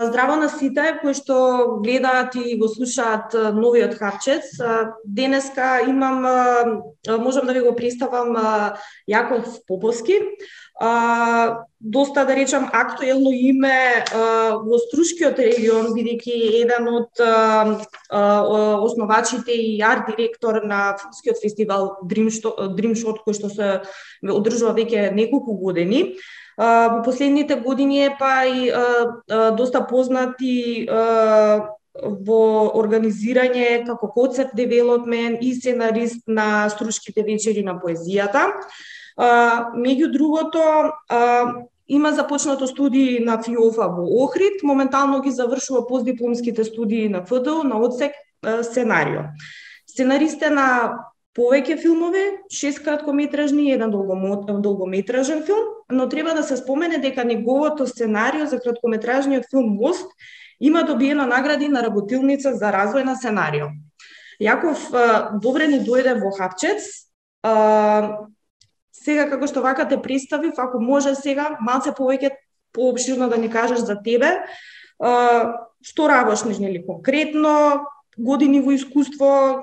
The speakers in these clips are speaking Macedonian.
Здраво на сите кои што гледаат и го слушаат новиот Хапчец. Денеска имам, можам да ви го представам Јаков Поповски. Доста, да речам, актуелно име во Струшкиот регион, бидејќи еден од основачите и арт директор на филмскиот фестивал Дримшот, кој што се одржува веќе неколку години. Во последните години е па и доста познат и во организирање како концепт девелопмент и сценарист на Струшките вечери на поезијата. Меѓу другото, има започнато студии на ФИОФа во Охрид, моментално ги завршува постдипломските студии на ФДУ на одсек сценарио. Сценарист е на повеќе филмови, 6 краткометражни и 1 долгометражен филм, но треба да се спомене дека неговото сценарио за краткометражниот филм Мост има добиена награди на работилница за развој на сценарио. Јаков добре ни дојде во Хапчец. Сега, како што вака те представив, ако може сега, малце повеќе поопширно да ни кажеш за тебе, што работиш, нели, конкретно, години во искуство,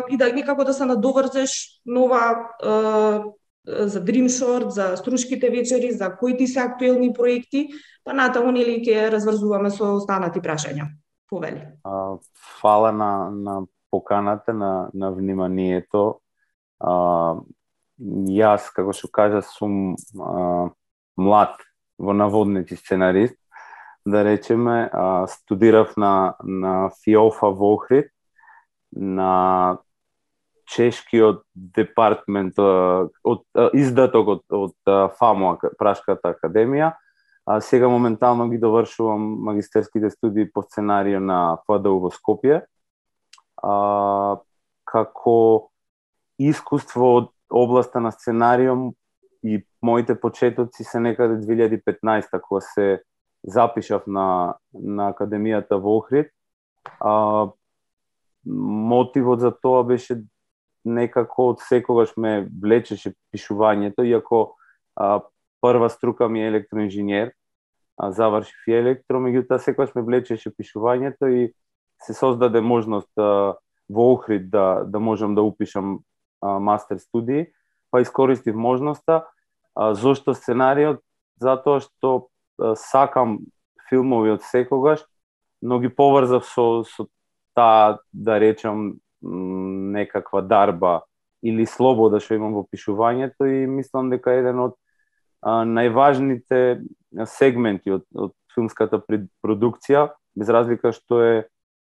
и да некако да се надоврзеш нова за Дримшорт, за Струшките вечери, за кои ти се актуелни проекти, па натаму нели ќе разврзуваме со останати прашања. Повели. Фала на поканата, на вниманието. Јас, како што кажа, сум млад во наводници сценарист. Да речеме, студирав на ФИОФа во Охрид, на чешкиот департмент, издаток од ФАМО, Пражската академија. Сега моментално ги довршувам магистерските студии по сценарио на ФДУ во Скопје. Како искуство од областа на сценарио и моите почетоци се некаде 2015 кога се запишав на академијата во Охрид. Мотивот за тоа беше некако од секогаш ме влечеше пишувањето, иако прва струка ми е електроинженер, завршив и електро, меѓутоа секогаш ме влечеше пишувањето и се создаде можност во Охрид да можам да упишам мастер студии, па искористив можноста. Зошто сценариот? Затоа што сакам филмови од секогаш, но ги поврзав со таа, да речам, некаква дарба или слобода што имам во пишувањето и мислам дека еден од најважните сегменти од филмската продукција, без разлика што е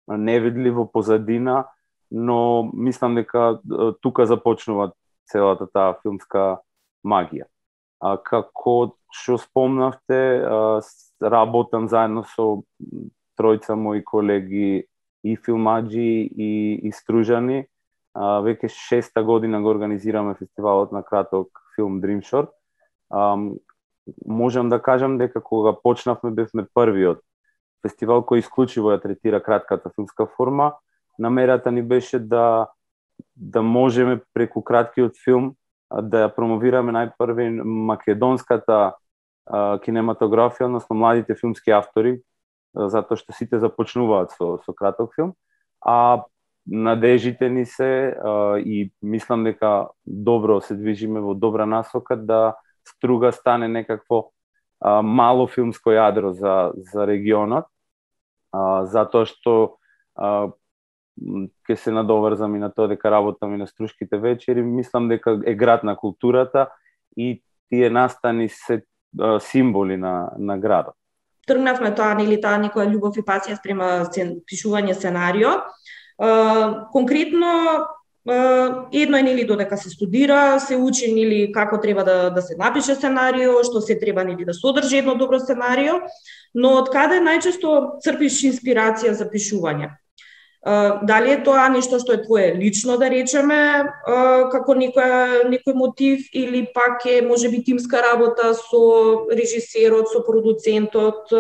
невидливо позадина, но мислам дека тука започнува целата таа филмска магија. Како што спомнавте, работам заедно со тројца мои колеги и филмаджи и стружани. Веќе 6-та година го организираме фестивалот на краток филм Дримшорт. Можам да кажам дека кога почнавме бевме првиот фестивал кој исклучиво ја третира кратката филмска форма. Намерата ни беше да можеме преку краткиот филм да ја промовираме најпрви македонската кинематографија, односно младите филмски автори, затоа што сите започнуваат со краток филм, а надежите ни се и мислам дека добро се движиме во добра насока да Струга стане некакво мало филмско јадро за регионот, затоа што ќе се надоврзам и на тоа дека работам и на Струшките вечери, мислам дека е град на културата и тие настани се символи на градот. Тргнавме таа некоја љубов и пасија спрема пишување сценарио. Конкретно, едно е додека се студира, се учи како треба да се напише сценарио, што се треба да содржи едно добро сценарио, но од каде најчесто црпиш инспирација за пишување? Дали е тоа нешто што е твое лично, да речеме, како некој мотив, или пак е можеби тимска работа со режисерот, со продуцентот,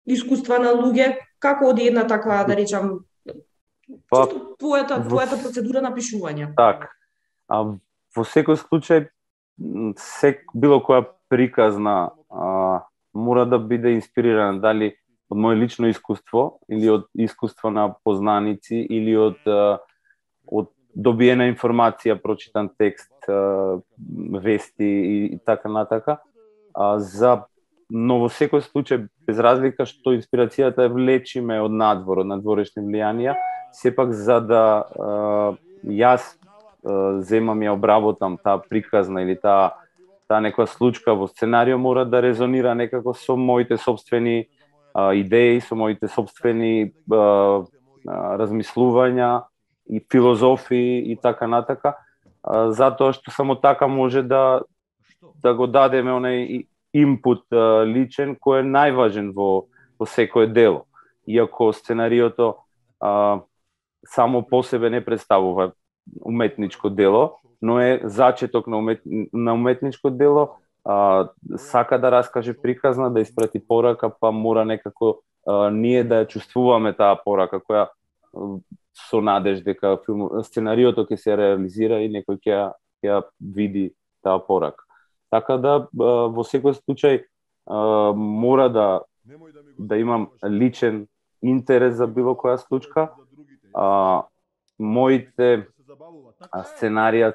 искуства на луѓе, како оди една таква, да речам, твојата процедура на пишување? Так, во секој случај, било која приказна мора да биде инспирирана, дали од мое лично искуство или од искуство на познаници или од добиена информација, прочитан текст, вести и така натака. Но во секој случај, без разлика што инспирацијата е влечиме од надвор, од надворешни влијанија, сепак за да јас земам ја обработам таа приказна или таа некоја случка во сценарио, мора да резонира некако со моите собствени идеи, со моите собствени размислувања и филозофии и така натака, затоа што само така може да го дадеме онај импут личен кој е најважен во секое дело. Иако сценариото само по себе не представува уметничко дело, но е зачеток на уметничко дело, сака да раскаже приказна, да испрати порака, па мора некако ние да ја чувствуваме таа порака, која со надеж дека сценариото ќе се реализира и некој ќе ја види таа порака. Така да во секој случај мора да имам личен интерес за било која случка. Моите сценарија,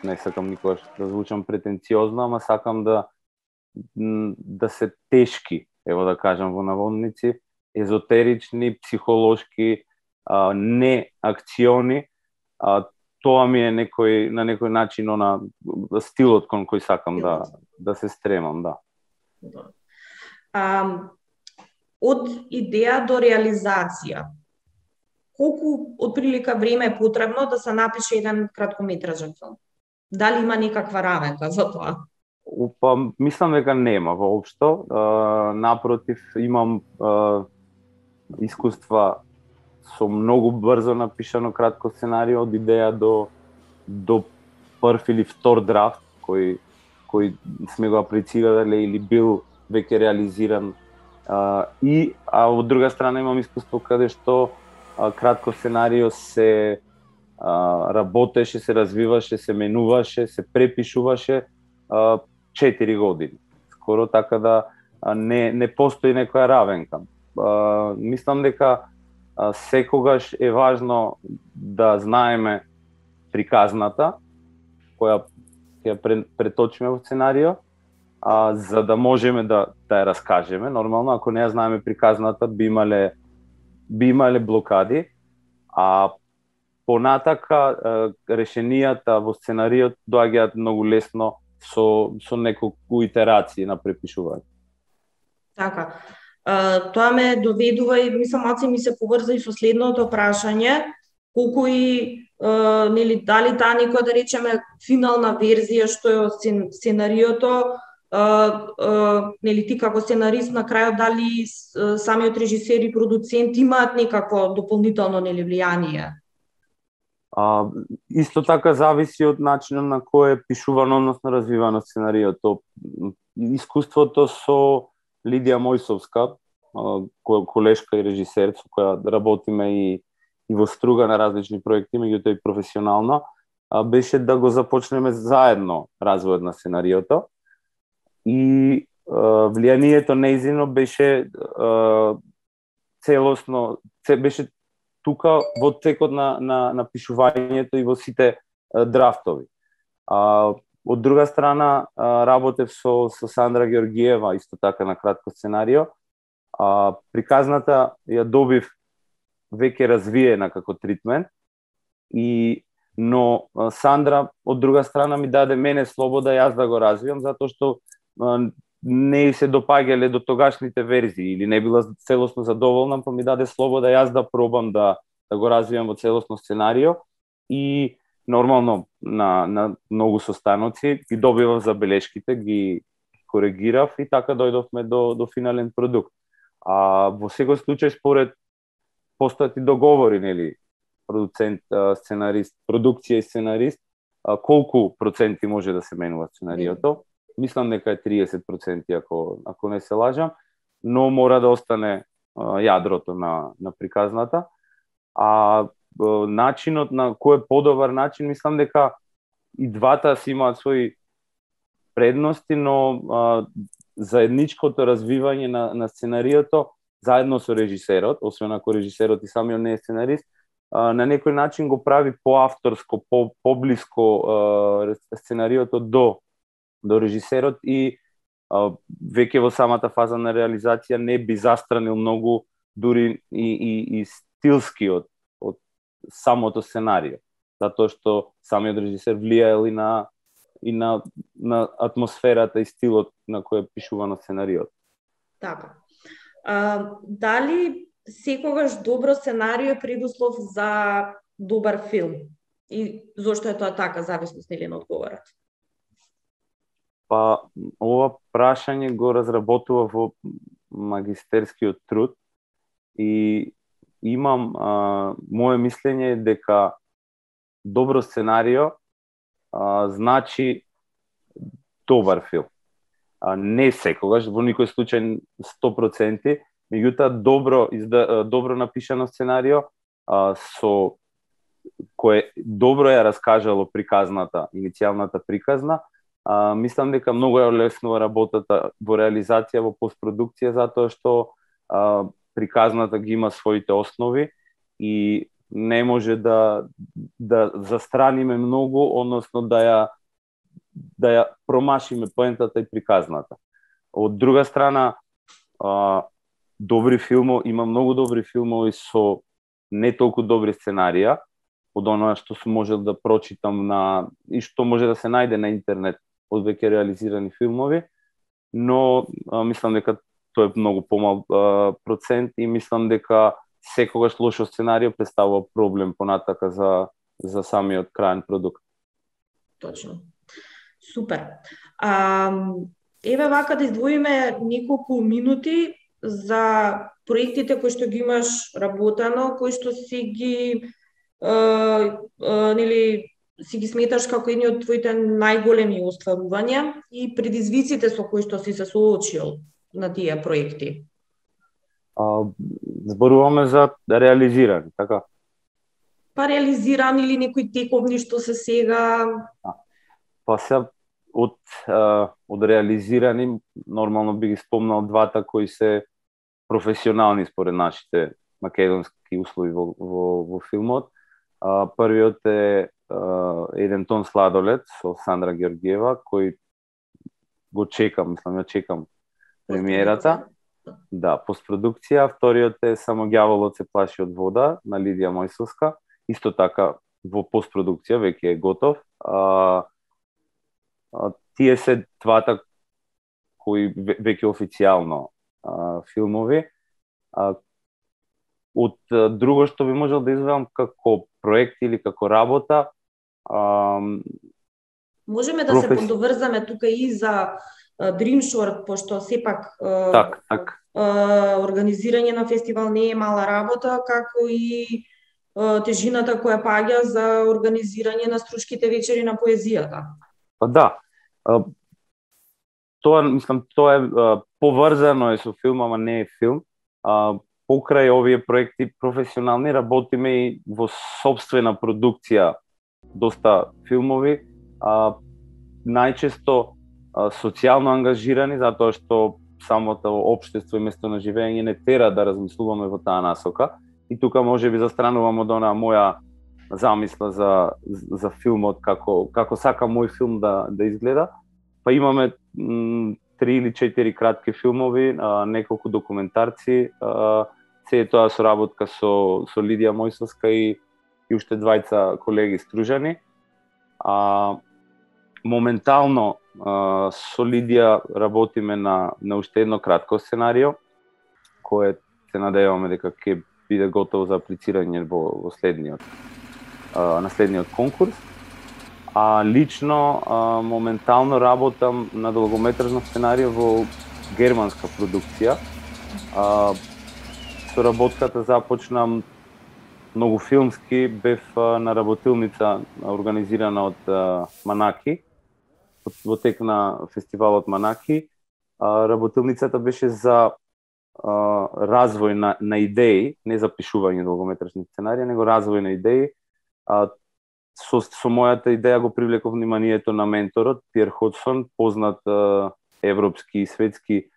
не сакам никогаш да звучам претенциозно, ама сакам да се тешки, ево да кажам во наводници, езотерични, психолошки, не акциони. Тоа ми е на некој начин стилот кон кој сакам да се стремам, да. Од идеја до реализација, колку отприлика време е потребно да се напише еден краткометражен филм? Дали има некаква равенка за тоа? Па, мислам дека нема воопшто. Напротив, имам искуства со многу брзо напишано кратко сценарио, од идеја до прв или втор драфт, кој сме го аплицирале или бил веќе реализиран. Од друга страна имам искуство каде што кратко сценарио се работеше, се развиваше, се менуваше, се препишуваше 4 години. Скоро, така да не постои некоја равенка. Мислам дека секогаш е важно да знаеме приказната, која ќе преточиме во сценарио, за да можеме да ја раскажеме. Нормално, ако не ја знаеме приказната, би имале блокади, понатака решенијата во сценариот доаѓаат многу лесно со неколку итерации на препишување. Така. Тоа ме доведува и мислам малце ми се поврза и со следното прашање, колку и дали таа некоја, да речеме, финална верзија што е од сценариото, ти како сценарист на крајот, дали самиот режисер и продуцент имаат некакво дополнително влијание? Исто така зависи од начинот на кој е пишувано, односно развивано сценариото. Искуството со Лидија Мојсовска, колешка и режисер, со која работиме и во струга на различни проекти, меѓутоа и професионално, беше да го започнеме заедно развојот на сценариото. И влијанието нејзино беше целосно, беше тука во текот на пишувањето и во сите драфтови. Од друга страна, работев со Сандра Георгиева, исто така на кратко сценарио. Приказната ја добив веќе развиена како тритмент, но Сандра, од друга страна, ми даде мене слобода јас да го развијам, затоа што не се допаѓале до тогашните верзии или не била целосно задоволна, па ми даде слобода јас да пробам да го развијам во целосно сценарио и нормално на многу состаноци ги добивав забелешките, ги коригирав и така дојдовме до финален продукт. Во секој случај според постојат и договори, продуцент, сценарист, продукција и сценарист, колку проценти може да се менува сценариото. Мислам дека е 30%, ако не се лажам, но мора да остане јадрото на приказната. Начинот на кој е подобар начин, мислам дека и двата си имаат своји предности, но заедничкото развивање на сценариото заедно со режисерот, освен ако режисерот и самиот не е сценарист, на некој начин го прави поавторско, поблиско сценариото до режисерот и веќе во самата фаза на реализација не би застранил многу дури и стилски од самото сценарио, затоа што самиот режисер влијаел и на атмосферата и стилот на кој е пишувано сценариот. Така. Дали секогаш добро сценарио е предуслов за добар филм? И зошто е тоа така, зависност нели на одговорот? Па, ова прашање го разработува во магистерскиот труд и имам мое мислење дека добро сценарио значи добар филм. Не секогаш, во никој случај 100%, меѓутоа добро напишано сценарио со кое добро ја раскажало приказната, иницијалната приказна, мислам дека многу ја олеснува работата во реализација, во постпродукција, затоа што приказната ги има своите основи и не може да застраниме многу, односно да ја промашиме поентата и приказната. Од друга страна, има многу добри филмови со не толку добри сценарија, од оноа што сум можел да прочитам и што може да се најде на интернет од веќе реализирани филмови, но мислам дека тоа е многу помал процент и мислам дека секогаш лошо сценарио представува проблем понатака за самиот краен продукт. Точно. Супер. Еве вака да издвоиме неколку минути за проектите кои што ги имаш работено, кои што си ги си ги сметаш како едни од твоите најголеми остварувања и предизвиците со кои што си се соочил на тие проекти? Зборуваме за реализирани, така? Па реализирани или некои тековни што се сега? Па се од реализирани, нормално би ги спомнал двата кои се професионални според нашите македонски услови во филмот. Првиот е Еден тон сладолед со Сандра Георгиева, кој го чекам премиерата. Да, постпродукција. Вториот е Само ѓаволот се плаши од вода на Лидија Мојсовска, исто така во постпродукција, веќе е готов. Тие се двата кои веќе официјално филмови. Од друго што би можел да изведам како проект или како работа, можеме да се подоврзаме тука и за Dream Short, пошто сепак организирање на фестивал не е мала работа, како и тежината која паѓа за организирање на струшките вечери на поезијата. Па да. Тоа е поврзано со филм, ама не е филм. Покрај овие проекти професионални работиме и во сопствена продукција доста филмови, најчесто социјално ангажирани, затоа што самото општество и место на живење не тера да размислуваме во таа насока. И тука може би застранувам од онаа моја замисла за филмот, како сакам мој филм да изгледа. Па имаме 3 или 4 кратки филмови, неколку документарци, се тоа соработка со Лидија Мојсовска и уште двајца колеги стружани. Моментално со Лидија работиме на уште едно кратко сценарио, кое се надеваме дека ќе биде готово за аплицирање во следниот конкурс. Лично моментално работам на долгометражно сценарио во германска продукција. Соработката започна многу филмски, бев на работилница организирана од Манаки, во тек на фестивалот Манаки. Работилницата беше за развој на идеи, не за пишување долгометражни сценарии, него развој на идеи. Со мојата идеја го привлеков вниманието на менторот Пиер Ходсон, познат европски и светски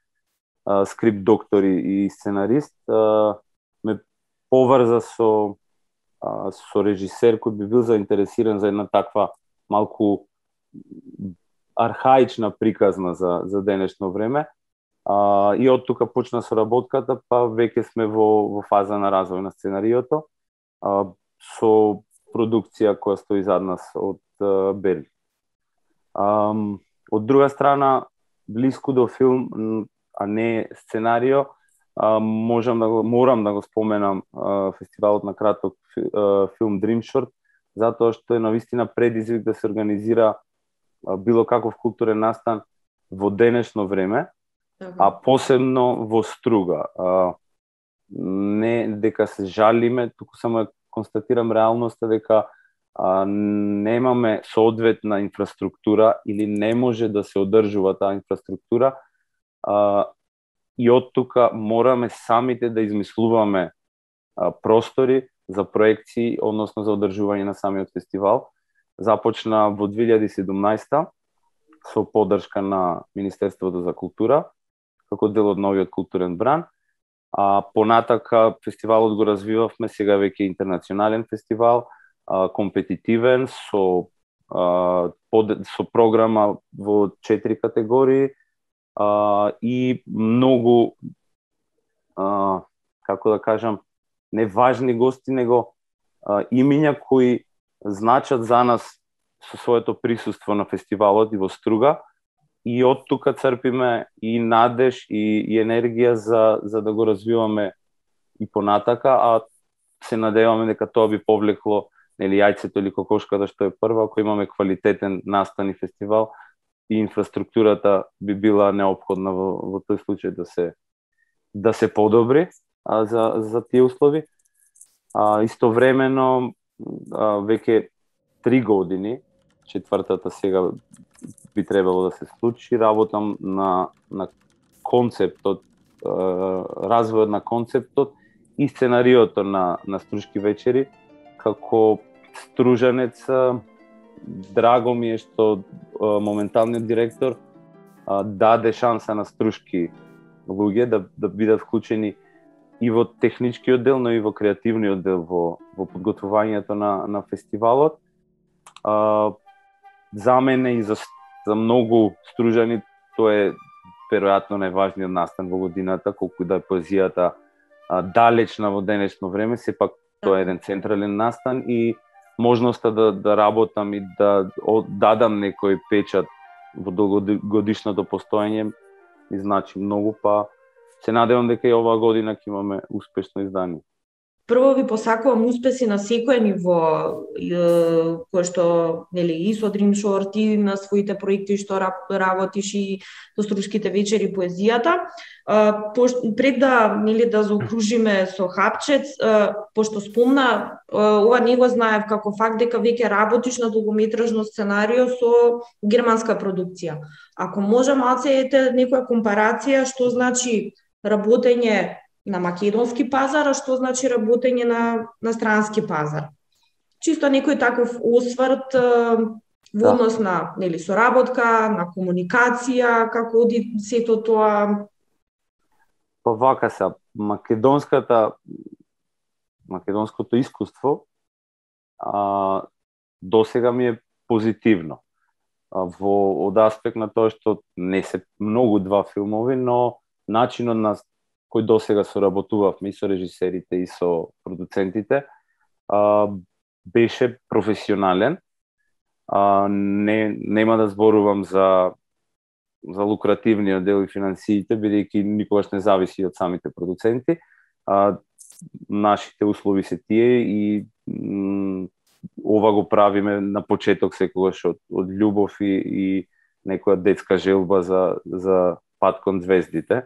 скрипт доктор и сценарист, ме поврза со режисер кој би бил заинтересиран за една таква малку архаична приказна за денешно време. И од тука почна соработката, па веќе сме во фаза на развој на сценариото, со продукција која стои зад нас од Берлин. Од друга страна, блиску до филм, а не сценарио, морам да го споменам фестивалот на краток филм Dream Short, затоа што е навистина предизвик да се организира било каков културен настан во денешно време, а посебно во Струга. Не дека се жалиме, туку само констатирам реалноста дека немаме соодветна инфраструктура или не може да се одржува таа инфраструктура, и од тука мораме самите да измислуваме простори за проекции, односно за одржување на самиот фестивал. Започна во 2017 со поддршка на Министерството за култура, како дел од новиот културен бран. Понатака фестивалот го развивавме, сега веќе интернационален фестивал, компетитивен, со програма во 4 категории, и многу, како да кажам, не важни гости, него имиња кои значат за нас со своето присуство на фестивалот и во Струга, и од тука црпиме и надеж и енергија за да го развиваме и понатака, а се надеваме дека тоа би повлекло јајцето или кокошката што е прва, ако имаме квалитетен настан и фестивал, и инфраструктурата би била неопходна во тој случај да се подобри за тие услови. Истовремено веќе 3 години, четвртата сега би требало да се случи, работам на концептот, развојот на концептот и сценариото на Струшки вечери. Како стружанец, драго ми е што моменталниот директор даде шанса на струшки луѓе да бидат вклучени и во техничкиот дел, но и во креативниот дел во подготвувањето на фестивалот. За мене и за многу стружани тоа е веројатно најважниот настан во годината, колку да е поезијата далечна во денешно време, сепак тоа е еден централен настан и можноста да работам и да дадам некој печат во долгогодишното постоење ми значи многу, па се надевам дека и оваа година ќе имаме успешно издание. Прво ви посакувам успеси на секој ниво, кој што и со Dream Short и на своите проекти што работиш и со Струшките вечери поезијата. Пред да заокружиме со хапчец, пошто спомна, ова не го знаев како факт дека веќе работиш на долгометражно сценарио со германска продукција. Ако може малце ете некоја компарација што значи работење на македонски пазар, а што значи работење на странски пазар. Чисто некој таков осврт во однос на соработка, на комуникација, како оди сето тоа. Па вака се, македонското искуство досега ми е позитивно. Од аспект на тоа што не се многу два филмови, но начинот на кој досега соработувавме и со режисерите и со продуцентите, беше професионален. Нема да зборувам за лукративниот дел и финансиите, бидејќи никогаш не зависи од самите продуценти. Нашите услови се тие и ова го правиме на почеток секогаш од љубов и некоја детска желба за пат кон звездите.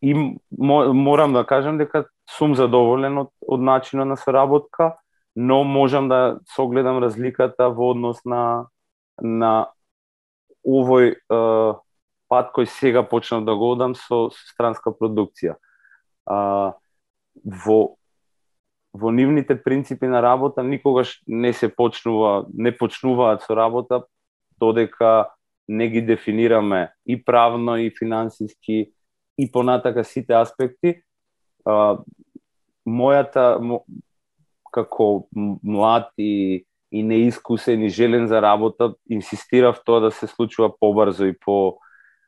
И морам да кажам дека сум задоволен од начинот на соработка, но можам да согледам разликата во однос на овој пат кој сега почнав да го одам со странска продукција. Во нивните принципи на работа никогаш не почнуваат со работа додека не ги дефинираме и правно, и финансиски, и понатака сите аспекти, како млад и неискусен и желен за работа, инсистирав тоа да се случува побрзо и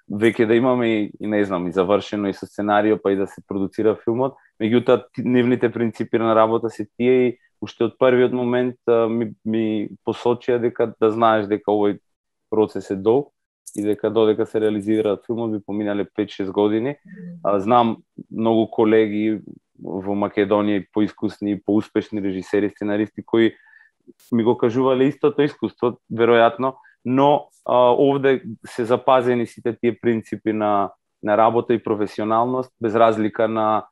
веќе да имаме и не знам, и завршено и со сценарио, па и да се продуцира филмот. Меѓутоа, нивните принципи на работа се тие и уште од првиот момент ми посочија дека да знаеш дека овој процес е долг и дека додека се реализираат филмот би поминале 5-6 години. Знам многу колеги во Македонија и поискусни и поуспешни режисери, сценаристи кои ми го кажувале истото искуство, веројатно, но овде се запазени сите тие принципи на работа и професионалност, без разлика на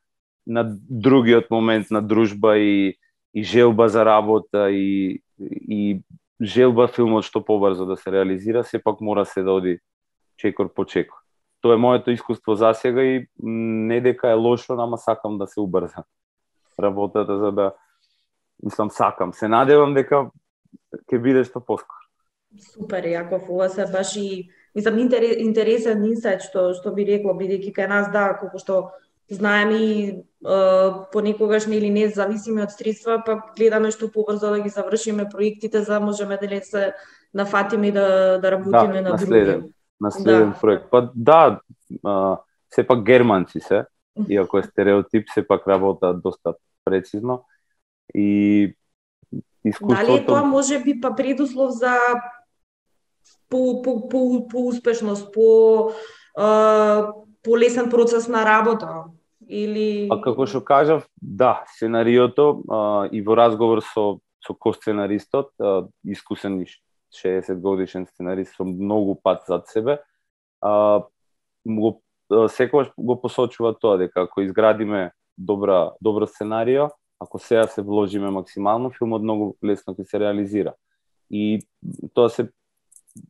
другиот момент на дружба и желба за работа и желба филмот што побрзо да се реализира, сепак мора се да оди чекор по чекор. Тоа е моето искуство засега и не дека е лошо, ама сакам да се убрза работата, за да, мислам, сакам. Се надевам дека ќе биде што поскоро. Супер, Јаков, ова се баш и мислам интересен инсайт што би рекло, бидејќи кај нас колку што знаеме и понекогаш нели не зависиме од средства, па гледаме што побрзо да ги завршиме проектите, за да можеме да се нафатиме и да работиме на други. На следен проект. Па сепак германци се, иако е стереотип, сепак работаат доста прецизно и искуството... Дали тоа може би па предуслов за по-успешност, по-лесен процес на работа? Или... Како што кажав, да, сценариото и во разговор со ко-сценаристот, искусен 60 годишен сценарист со многу пат зад себе, секогаш го посочува тоа дека ако изградиме добро сценарио, ако сега се вложиме максимално, филмот многу лесно ќе се реализира. И тоа се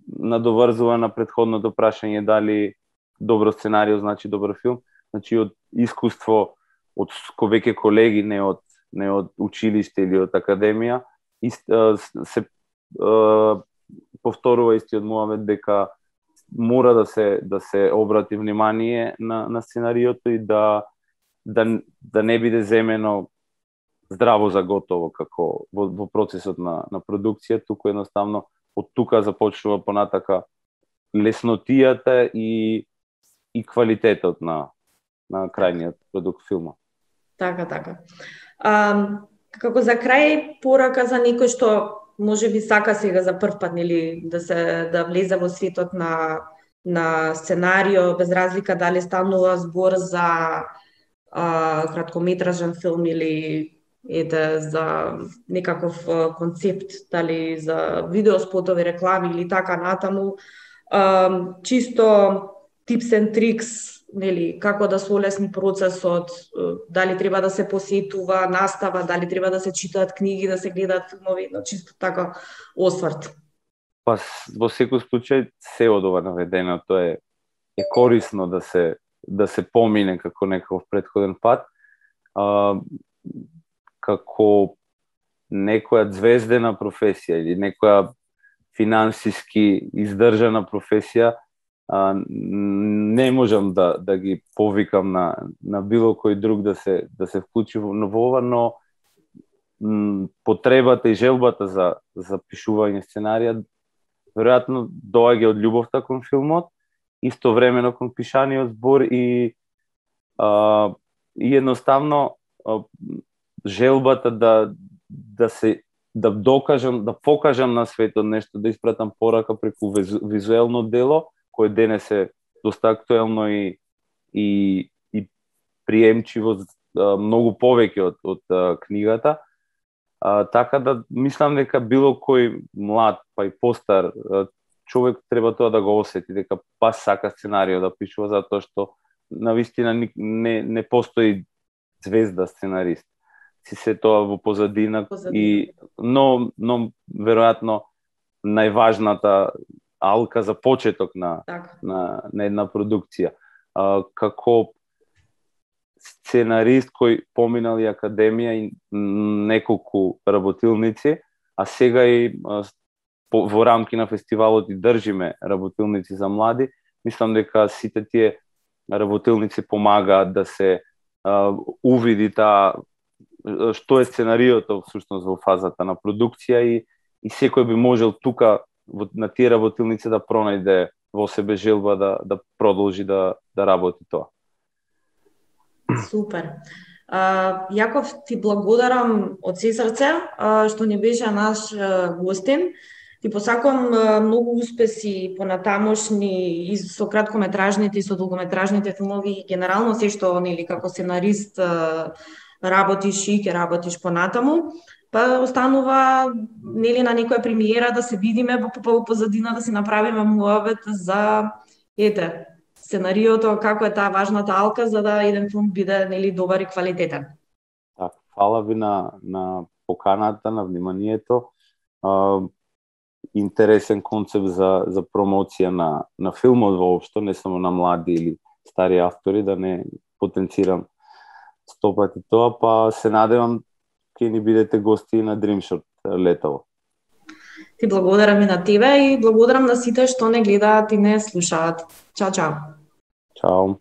надоврзува на претходното прашање дали добро сценарио значи добар филм. Значи од искуство од веќе колеги, не од училиште или од академија, се повторува истиот муавет дека мора да се обрати внимание на сценариото и да не биде земено здраво за готово како во процесот на продукција, туку едноставно од тука започнува понатака леснотијата и квалитетот на крајниот продукт филма. Така. Како за крај порака за некој што може би сака сега за прв пат нели да влезе во светот на сценарио, без разлика дали станува збор за краткометражен филм или за некаков концепт, дали за видеоспотови, реклами или така натаму, чисто tips and tricks, нели, како да се олесни процесот, дали треба да се посетува настава, дали треба да се читаат книги, да се гледаат филмови, чисто така осврт. Па во секој случај се од ова наведеното е корисно да се помине како некаков претходен пат. Како некоја звездена професија или некоја финансиски издржана професија, не можам да ги повикам на било кој друг да се вклучи во ова, но потребата и желбата за пишување сценарија веројатно доаѓа од љубовта кон филмот, истовремено кон пишаниот збор и едноставно желбата да докажам, да покажам на светот нешто, да испратам порака преку визуелно дело, кој денес е доста актуелно и приемчиво многу повеќе од книгата. Така да мислам дека било кој млад, па и постар човек треба тоа да го осети, дека пас сака сценарио да пишува, затоа што навистина не постои звезда сценарист. Си се тоа во позадина. Но веројатно најважната алка за почеток на една продукција. Како сценарист кој поминал и академија и неколку работилници, а сега и во рамки на фестивалот и држиме работилници за млади, мислам дека сите тие работилници помагаат да се увиди што е сценариото всушност во фазата на продукција и секој би можел тука на тие работилници да пронајде во себе желба да продолжи да работи тоа. Супер. Јаков, ти благодарам од се срце што ни беше наш гостин. Ти посакувам многу успеси понатамошни и со краткометражните и со долгометражните филмови и генерално се што нели како сценарист работиш и ќе работиш понатаму. Па останува нели на некоја премиера да се видиме по позадина, да си направиме муабет за сценариото, како е таа важната алка за да еден филм биде нели добар и квалитетен. Так, фала ви на поканата, на вниманието. Интересен концепт за промоција на филмот воопшто, не само на млади или стари автори, да не потенцирам 100 пати тоа, па се надевам ќе ни бидете гости на Дримшот летово. Ти благодарам и на тебе и благодарам на сите што не гледаат и не слушаат. Чао, чао. Чао.